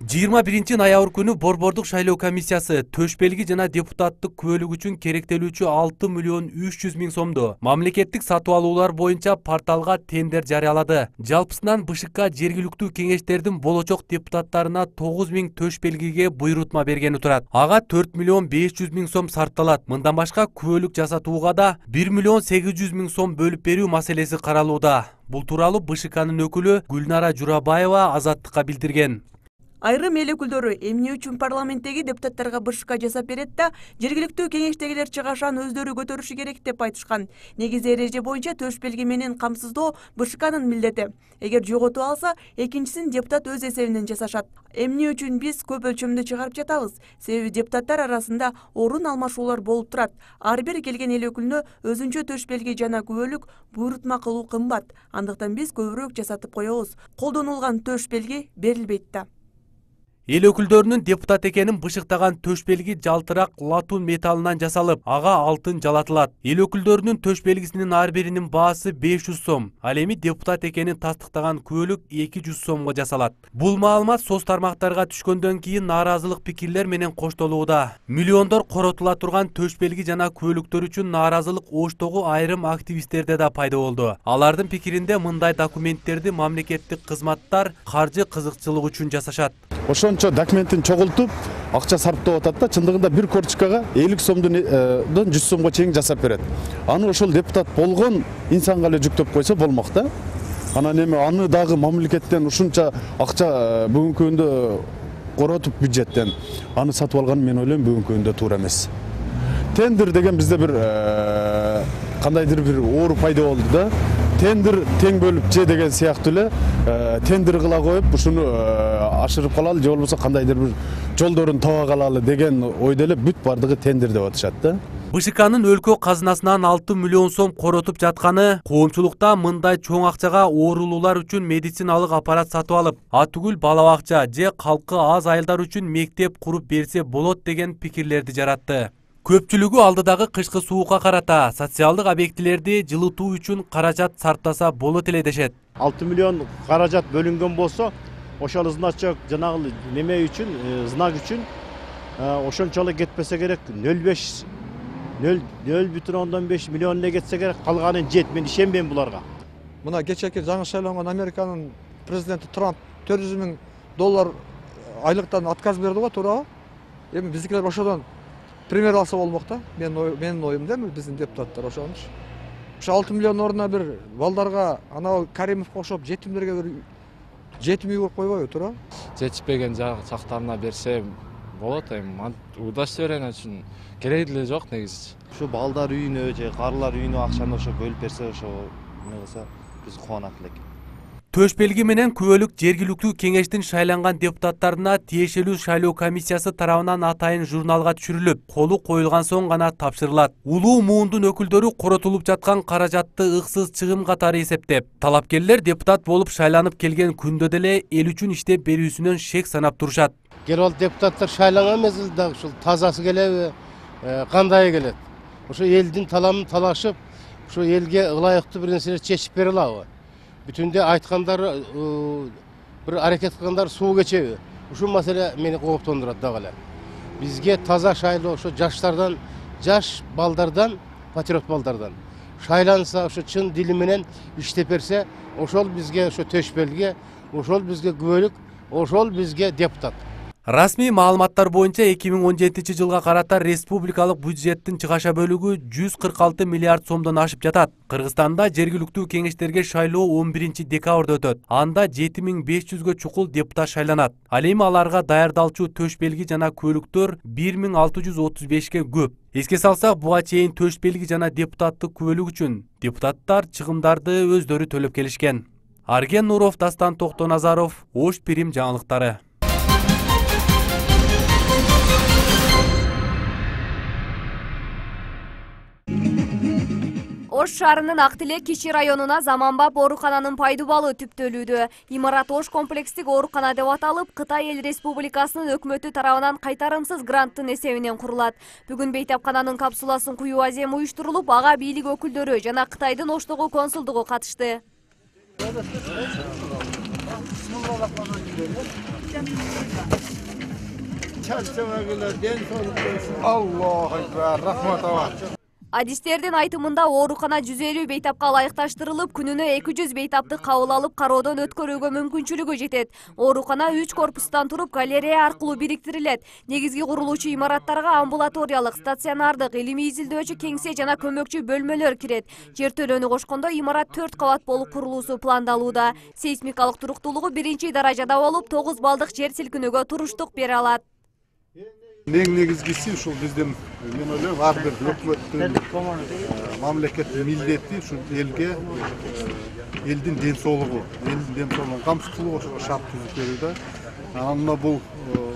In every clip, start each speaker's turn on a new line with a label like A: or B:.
A: 21-ноябрь күнү Борбордук шайлоо комиссиясы төш белги жана депутаттык күбөлүк үчүн керектелүүчү 6 миллион 300 миң сомду мамлекеттик сатып алуулар боюнча порталга тендер жарыялады. Жалпысынан БШК жергиликтүү кеңештердин болочок депутаттарына 9 миң төш белгиге буйрутма бергени турат. Ага 4 миллион 500 миң сом сарпталат. Мындан башка күбөлүк жасатууга да 1 миллион 800 миң сом бөлүп берүү маселеси каралууда. Бул тууралуу БШКнын өкүлү Гүлнара Журабаева Азаттыкка билдирген.
B: Айрым эл өкүлдөрү эмне үчүн парламенттеги депутаттарга БШК жасап берет да, жергиликтүү кеңештегилер чыгашан өздөрү көтөрүшү керек деп айтышкан. Негизи эреже боюнча төш белги менен камсыздоо БШКнын милдети. Эгер жоготуп алса, экинчисин депутат өз эсебинен жасашат. Эмне үчүн биз көп өлчөмдө чыгарып жатабыз? Себеби депутаттар арасында орун алмашуулар болуп турат. Ар бир келген эл өкүлүнө өзүнчө төш белги жана күбөлүк буйрутма кылуу кымбат. Андыктан биз көбүрөөк жасатып коебуз. Колдонулган төш белги берилбейт да.
A: Эл өкүлдөрүнүн депутат экенин бышыктаган төш белги жалтырак латун металлынан жасалып, ага алтын жалатылат. Эл өкүлдөрүнүн төш белгисинин ар биринин баасы 500 сом. Ал эми депутат экенин тастыктаган күбөлүк 200 сомго жасалат. Бул маалымат соц тармактарга түшкөндөн кийин нааразылык пикирлер менен коштолууда. Миллиондор коротула турган төш белги жана күбөлүктөр үчүн нааразылык оштогу айрым активисттерде да пайда болду. Алардын пикиринде мындай документтерди мамлекеттик кызматтар каржы кызыкчылык үчүн жасашат.
C: Ошончо документин чогултуп, акча сарптап атат да, чындыгында бир корчкага 50 сомдон 100 сомго чейин жасап берет. Аны ошол депутат болгон инсанга эле жүктөп койсо болмок да. Анан эми аны дагы мамлекеттен ушунча акча бүгүнкү күндө коротуп бюджеттен аны сатып алган мен ойлойм бүгүнкү күндө туура эмес. Тендер деген бизде бир кандайдыр бир оору пайда болду да. Тендер тең бөлүп же деген сыяктуу эле тендер кыла коюп ушуну ашырып калалы же болбосо кандайдыр бир жолдорун таба калалы деген ойдо эле бүт бардыгы тендер деп атышат да.
A: БШКнын өлкө казынасынан 6 миллион сом коротуп жатканы, коомчулукта мындай чоң акчага оорулуулар үчүн медициналык аппарат сатып алып, атүгүл бала бакча же калкы аз айылдар үчүн мектеп куруп берсе болот деген пикирлерди жаратты. Көпчүлүгү алдыдагы кышкы суукка карата социалдык объектилерди жылытуу үчүн каражат сарптаса болот эле дешет.
D: 6 миллион каражат бөлүнгөн болсо, ошол значок жанагы неме үчүн, знак үчүн ошончолук кетпесе керек 0,5 миллион эле кетсе керек, калганын жет. Мен ишенбейм буларга.
E: Мына кечээки жаңы шайланган Американын президенти Трамп $400 000 айлыктан отказ берди го, туурабы? Эми биздикилер ошодон пример алса болмок да. Менин оюмда биздин депутаттар ошонуч. Ошо 6 миллион ордуна бир балдарга анау Каримовго окшоп жетимдерге бир жетим үй куруп койбойбу, туурабы?
F: Жетишпеген жактарына берсе болот, эми удача берен үчүн кереги деле жок негизи.
D: Ошо балдар үйүнө же карылар үйүнө акчаны ошо бөлүп берсе, ошо эмне кылса биз кубанат элек.
A: Төш белги менен күбөлүк жергиликтүү кеңештин шайланган депутаттарына тиешелүү шайлоо комиссиясы тарабынан атайын журналга түшүрүлүп, колу коюлган соң гана тапшырылат. Улуу муундун өкүлдөрү коротулуп жаткан каражатты ыксыз чыгым катары эсептеп, талапкерлер депутат болуп шайланып келген күндө деле эл үчүн иштеп берүүсүнөн шек санап турушат.
G: Келип алып депутаттар шайланган мезгилде ушул тазасы келеби, кандай келет? Ошо элдин таламын талашып, ошо элге ылайыктуу бир нерселер чечип бере алабы? Бүтүндө айткандар бир аракет кылгандар суу кечеби? Ушул маселе мени кооптондурат дагы эле. Бизге таза шайлоо ошо жаштардан, жаш балдардан, патриот балдардан шайланса, ошо чын дили менен иштеп берсе, ошол бизге ошо төш белги, ошол бизге күбөлүк, ошол бизге депутат.
A: Расмий маалыматтар боюнча 2017 жылга карата республикалык бюджеттин чыгаша бөлүгү 146 миллиард сомдон ашып жатат. Кыргызстанда жергиликтүү кеңештерге шайлоо 11 декабрда өтөт. Анда 7500гө чукул депутат шайланат. Ал эми аларга даярдалчу төш белги жана күбөлүктөр 1635ке көп. Эске салсак, буга чейин төш белги жана депутаттык күбөлүк үчүн депутаттар чыгымдарды өздөрү төлөп келишкен. Арген Нуров, Дастан Токтоназаров, Ош Пирим жаңылыктары.
H: Ош шаарынын Актилек кичи районуна заманбап оорукананын пайдубалы түптөлүүдө. Имарат Ош комплекстик оорукана деп аталып, Кытай Эл Республикасынын өкмөтү тарабынан кайтарымсыз гранттын эсебинен курулат. Бүгүн бейтапкананын капсуласын куюу азем уюштурулуп, ага бийлик өкүлдөрү жана Кытайдын Оштогу консулдугу катышты.
I: Allahu ekber, rahmat aba.
H: Адистердин айтымында оорукана 150 бейтапка ылайыкташтырылып, күнүнө 200 бейтапты кабыл алып кароодон өткөрүүгө мүмкүнчүлүгү жетет. Оорукана 3 корпустан туруп галерея аркылуу бириктирилет. Негизги курулуучу имараттарга амбулаториялык, стационардык, илимий изилдөөчү кеңсе жана көмөкчү бөлмөлөр кирет. Жертөлөнү кошкондо имарат 4 кабат болуп курулуусу пландалууда. Сейсмикалык туруктуулугу 1-даражада болуп, 9 балдык жер силкинүүгө туруштук бере алат.
I: Эң негизгиси ушул биздин, мен ойлойм, ар бир өкмөттүн, мамлекеттин милдети ушул элге элдин ден соолугу, камсыз кылуу ошого шарт түзүп берүү да. Анан бул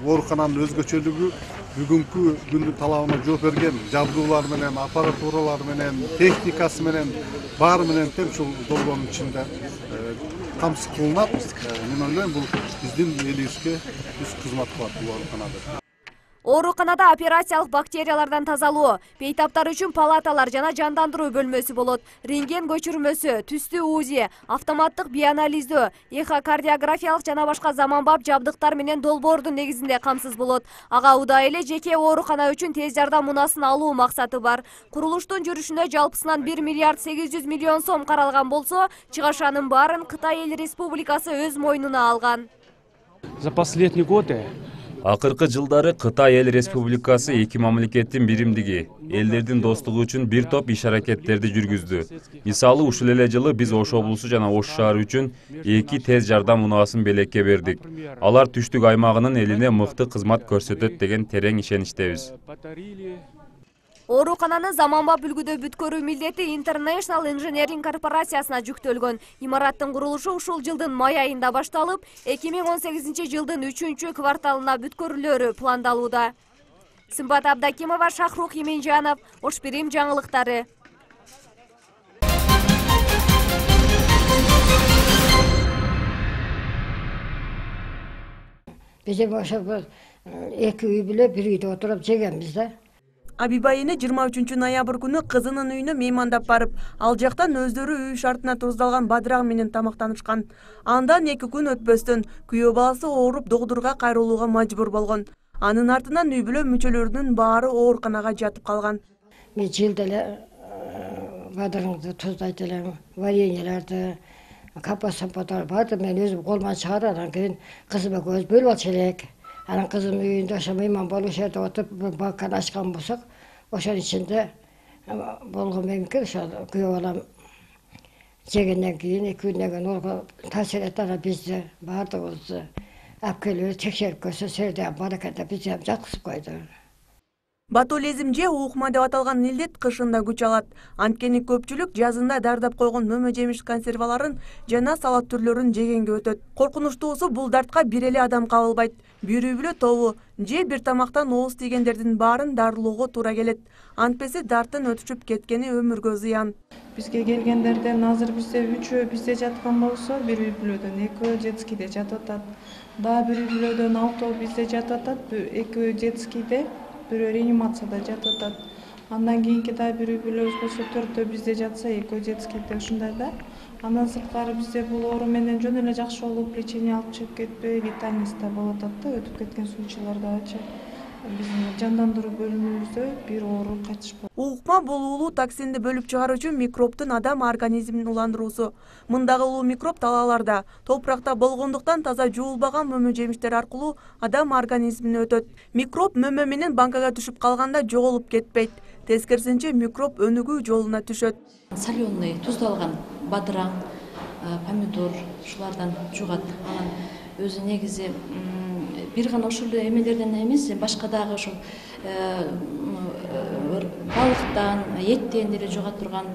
I: оорукананын өзгөчөлүгү бүгүнкү күндүн талабына жооп берген жабдуулар менен, аппаратуралар менен, техникасы менен, баары менен тең ушул долбоонун ичинде камсыз кылынат. Мен ойлойм, бул биздин элибизге үч кызмат кылат бул ооруканада.
H: Ооруканада операциялык бактериялардан тазалоо, бейтаптар үчүн палаталар жана жандандыруу бөлмөсү болот. Рентген көчүрмөсү, түстүү УЗИ, автоматтык биоанализдөө, эхокардиографиялык жана башка заманбап жабдыктар менен долбоордун негизинде камсыз болот. Ага удай эле жеке оорукана үчүн тез жардам унаасын алуу максаты бар. Курулуштун жүрүшүнө жалпысынан 1 миллиард 800 миллион сом каралган болсо, чыгашанын баарын Кытай Эл Республикасы өз мойнуна алган.
J: За последние годы
K: Акыркы жылдары Кытай Эл Республикасы эки мамлекеттин биримдиги, элдердин достугу үчүн бир топ иш-аракеттерди жүргүздү. Мисалы, ушул эле жылы биз Ош облусу жана Ош шаары үчүн 2 тез жардам унаасын белекке бердик. Алар түштүк аймагынын элине мыкты кызмат көрсөтөт деген терең ишеничтебиз.
H: Оорукананы заманбап үлгүдө бүткөрүү милдети International Engineering корпорациясына жүктөлгөн. Имараттын курулушу ушул жылдын май айында башталып, 2018 жылдын 3-кварталына бүткөрүлөрү пландалууда. Сымбат Абдакимова, Шахрух Именжанов, Ош Бирим жаңылыктары.
L: Биз ошо эки үй биле бир үйдө отуруп жегенбиз да.
B: Абиба эне 23 ноябрь күнү кызынын үйүнө меймандап барып, ал жактан өздөрү үй шартына туздалган бадырак менен тамактанышкан. Андан 2 күн өтпөстөн күйөө баласы ооруп докторго кайрылууга мажбур болгон. Анын артынан үй бүлө мүчөлөрүнүн баары ооруканага жатып калган.
L: Мен жылда эле бадырыңды туздайт элем, вареньелерди, капа-сампатар барды мен өзүм колуман чыгарып, анан кийин кызыма көз бөлүп алчу элек. Анан кызым үйүндө ошо мейман болуп жерде отуруп балкон ачкан болсок, ошонун ичинде болгон экен, ошо күйөө балам жегенден кийин 2 күндөн кийин олго таасир этти, анан бизди баардыгыбызды алып келип текшерип көрсө, сөрдө бар экен деп бизди жаткызып койду.
B: Ботулизм же уукма деп аталган илдет кышында күч алат. Анткени көпчүлүк жазында дардап койгон мөмө жемиш консерваларын жана салат түрлөрүн жегенге өтөт. Коркунучтуусу бул дартка бир эле адам кабылбайт. Бир үй бүлө тобу же бир тамактан ооз тийгендердин баарын дарылоого туура келет. Антпесе дарттын өтүшүп кеткени өмүргө зыян.
M: Бизге келгендерден азыр бизде 3 бизде жаткан болсо, бир үй бүлөдөн 2 детскийде жатып атат. Дагы бир үй бүлөдөн 6 бизде жатып атат, 2 детскийде, бирөө реанимацияда жатып атат. Андан кийинки да бир үй бүлөбүз болсо 4 бизде жатса, 2 детскийде ушундай да. Андан сырткары бизде бул оору менен жөн эле жакшы болуп, лечение алып чыгып кетпей, летальность да болуп атат да, өтүп кеткен случайлардачы. Биздин жандандыруу бөлүмүбүздө бир оору кайтыш болду.
B: Уукма бул улуу токсинди бөлүп чыгаруучу микробтун адам организмин уландыруусу. Мындагы улуу микроб талааларда, топуракта болгондуктан таза жуулбаган мөмө жемиштер аркылуу адам организмине өтөт. Микроб мөмө менен банкага түшүп калганда жоголуп кетпейт. Тескерисинче микроб өнүгүү жолуна түшөт.
N: Соленый, туздалган бадыраң, помидор ушулардан жугат. Анан өзү негизи бир гана ошол эмелерден эмес, башка дагы ошол балыктан, эттен деле жуга турган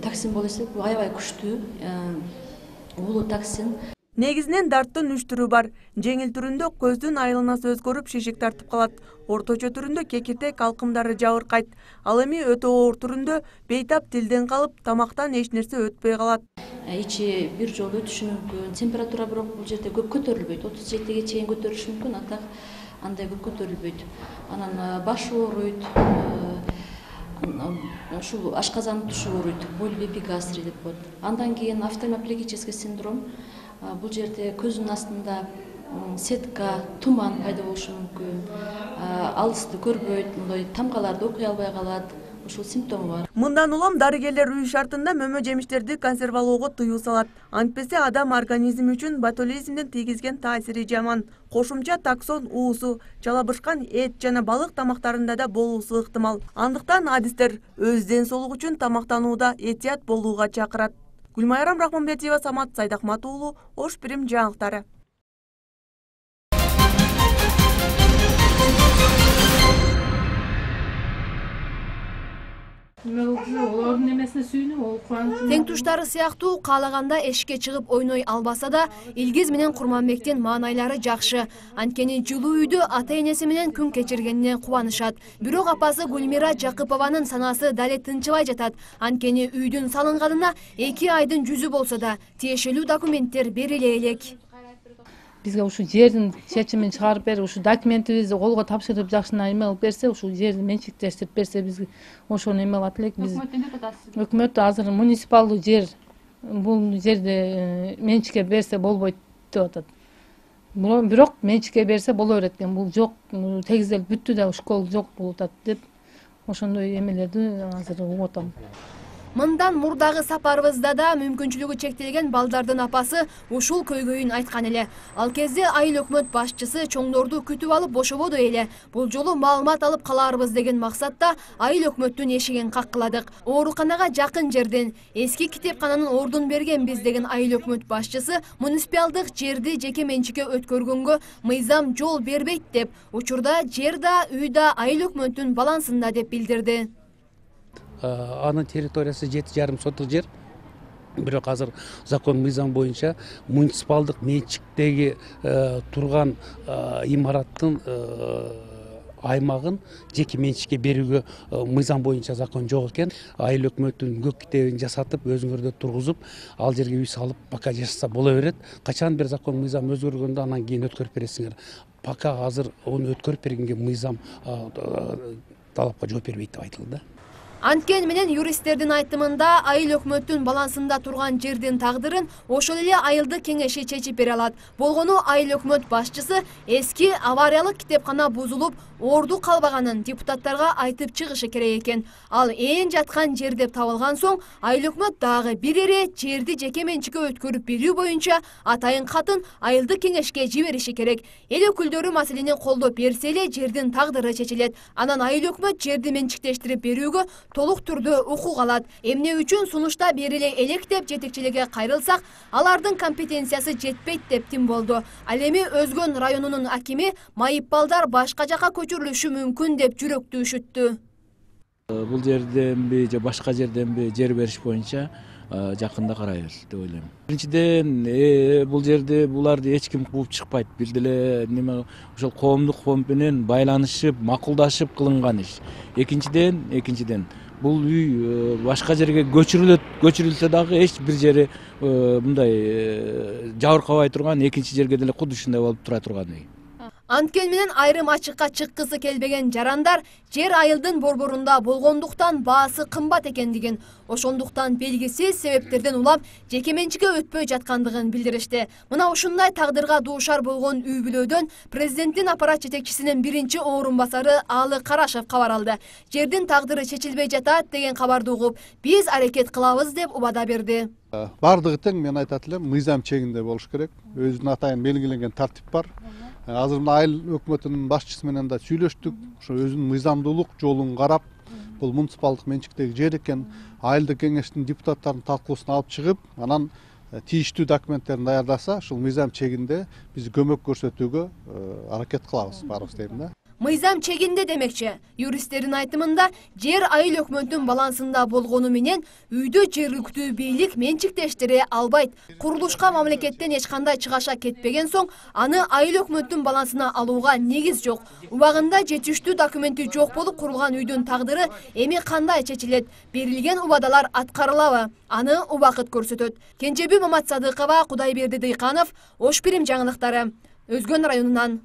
N: токсин болуп эсептелет. Бул аябай күчтүү улуу токсин.
B: Негизинен дарттын 3 түрү бар. Жеңил түрүндө көздүн айланасы өзгөрүп, шишик тартып калат. Орточо түрүндө кекиртек алкымдары жабыркайт. Ал эми өтө оор түрүндө бейтап тилден калып, тамактан эч нерсе өтпөй калат.
N: Ичи бир жолу өтүшү мүмкүн. Температура бирок бул жерде көп көтөрүлбөйт. 37ге чейин көтөрүлүшү мүмкүн, а так андай көп көтөрүлбөйт. Анан баш ооруйт. Ушул ашказан тушу ооруйт. Боль бепигастрий деп коет. Андан кийин автоимоплегический синдром. бул жерде көзүнүн астында сетка, туман пайда болушу мүмкүн, алысты көрбөйт, мындай тамгаларды окуй албай калат. Ушул симптому бар.
B: Мындан улам дарыгерлер үй шартында мөмө жемиштерди консервалоого тыюу салат. Антпесе адам организми үчүн ботулизмдин тийгизген таасири жаман. Кошумча токсон уусу, жалабышкан эт жана балык тамактарында да болуусу ыктымал. Андыктан адистер өз ден соолугу үчүн тамактанууда этият болууга чакырат. Гүлмайрам Рахманбетиева, Самат Сайдахмат уулу, Ош Пирим жаңылыктары.
O: Тең туштары сыяктуу каалаганда эшикке чыгып ойной албаса да, Илгиз менен Курманбектин маанайлары жакшы. Анткени жылуу үйдө ата-энеси менен күн кечиргенине кубанышат. Бирок апасы Гүлмира Жакыпованын санасы дале тынчыбай жатат. Анткени үйдүн салынганына 2 айдын жүзү болсо да, тиешелүү документтер бериле элек.
P: Бизге ушу жердин чечимин чыгарып берип, ушу документибизди колго тапшырып жакшына эме кылып берсе, ушу жерди менчиктештирип берсе, биз ошону эме кылат элек. Биз өкмөт азыр муниципалдуу жер, бул жерди менчикке берсе болбойт деп атат. Бирок менчикке берсе боло берет экен. Бул жок, тегизделип бүттү да, школ жок болуп атат деп ошондой эмелерди азыр угуп атам.
O: Мындан мурдагы сапарыбызда да мүмкүнчүлүгү чектелген балдардын апасы ушул көйгөйүн айткан эле. Ал кезде айыл өкмөт башчысы чоңдорду күтүп алып бошободу эле. Бул жолу маалымат алып калаарбыз деген максатта айыл өкмөттүн эшигин каккыладык. Ооруканага жакын жерден эски китепкананын ордун бергенбиз деген айыл өкмөт башчысы муниципалдык жерди жеке менчикке өткөргөнгө мыйзам жол бербейт деп, учурда жер да, үй да айыл өкмөттүн балансында деп билдирди.
J: Анын территориясы 7,5 соток жер. Бирок азыр закон мыйзам боюнча муниципалдык менчиктеги турган имараттын аймагын жеке менчикке берүүгө мыйзам боюнча закон жок экен. Айыл өкмөттүн көк китебин жасатып, өзүңөрдө тургузуп, ал жерге үй салып, пока жашаса боло берет. Качан бир закон мыйзам өзгөргөндө анан кийин өткөрүп бересиңер. Пока азыр onu өткөрүп бергенге мыйзам талапка жооп бербейт деп айтылды.
O: Анткен менен юристтердин айтымында айыл өкмөттүн балансында турган жердин тагдырын ошол эле айылдык кеңеши чечип бере алат. Болгону айыл өкмөт башчысы эски авариялык китепкана бузулуп, орду калбаганын депутаттарга айтып чыгышы керек экен. Ал ээн жаткан жер деп табылган соң, айыл өкмөт дагы бир эре жерди жеке менчикке өткөрүп берүү боюнча атайын катын айылдык кеңешке жибериши керек. Эл өкүлдөрү маселени колдоп берсе эле жердин тагдыры чечилет. Анан айыл өкмөт жерди менчиктештирип берүүгө толук түрдө укук алат. Эмне үчүн сунушта бериле элек деп жетекчиликке кайрылсак, алардын компетенциясы жетпейт деп тим болду. Ал эми Өзгөн районунун акими майып балдар башка жака көчүрүлүшү мүмкүн деп жүрөктүү үшүттү.
Q: Бул жерденби же башка жерденби жер бериш боюнча жакында карайбыз деп ойлойм. Биринчиден, бул жерде буларды эч ким кууп чыкпайт. Бир деле неме ошол коомдук фонд менен байланышып, макулдашып кылынган иш. Экинчиден, бул үй башка жерге көчүрүлсө дагы эч бир жери мындай жабыркабай турган, экинчи жерге деле куду ушундай болуп тура турган үй.
O: Анткен менен айрым ачыкка чыккысы келбеген жарандар жер айылдын борборунда болгондуктан баасы кымбат экендигин, ошондуктан белгисиз себептерден улам жеке менчикке өтпөй жаткандыгын билдиришти. Мына ушундай тагдырга дуушар болгон үй бүлөдөн президенттин аппарат жетекчисинин биринчи орун басары Алы Карашев кабар алды. Жердин тагдыры чечилбей жатат деген кабарды угуп, биз аракет кылабыз деп убада берди.
I: Бардыгы тең, мен айтат элем, мыйзам чегинде болуш керек. Өзүнүн атайын белгиленген тартип бар. Азыр мына айыл өкмөтүнүн башчысы менен да сүйлөштүк. Ошо өзүнүн мыйзамдуулук жолун карап, бул муниципалдык менчиктеги жер экен, айылдык кеңештин депутаттарынын талкуусуна алып чыгып, анан тийиштүү документтерин даярдаса, ушул мыйзам чегинде биз көмөк көрсөтүүгө аракет кылабыз, баарыбыз дейм да.
O: Мыйзам чегинде демекчи. Юристтердин айтымында жер айыл өкмөттүн балансында болгону менен үйдө жергиликтүү бийлик менчиктештире албайт. Курулушка мамлекеттен эч кандай чыгаша кетпеген соң, аны айыл өкмөттүн балансына алууга негиз жок. Убагында жетиштүү документи жок болуп курулган үйдүн тагдыры эми кандай чечилет? Берилген убадалар аткарылабы? Аны убакыт көрсөтөт. Кенжеби Мамат Садыкова, Кудайберди Дыйканов, Ош Пирим жаңылыктары. Өзгөн районунан.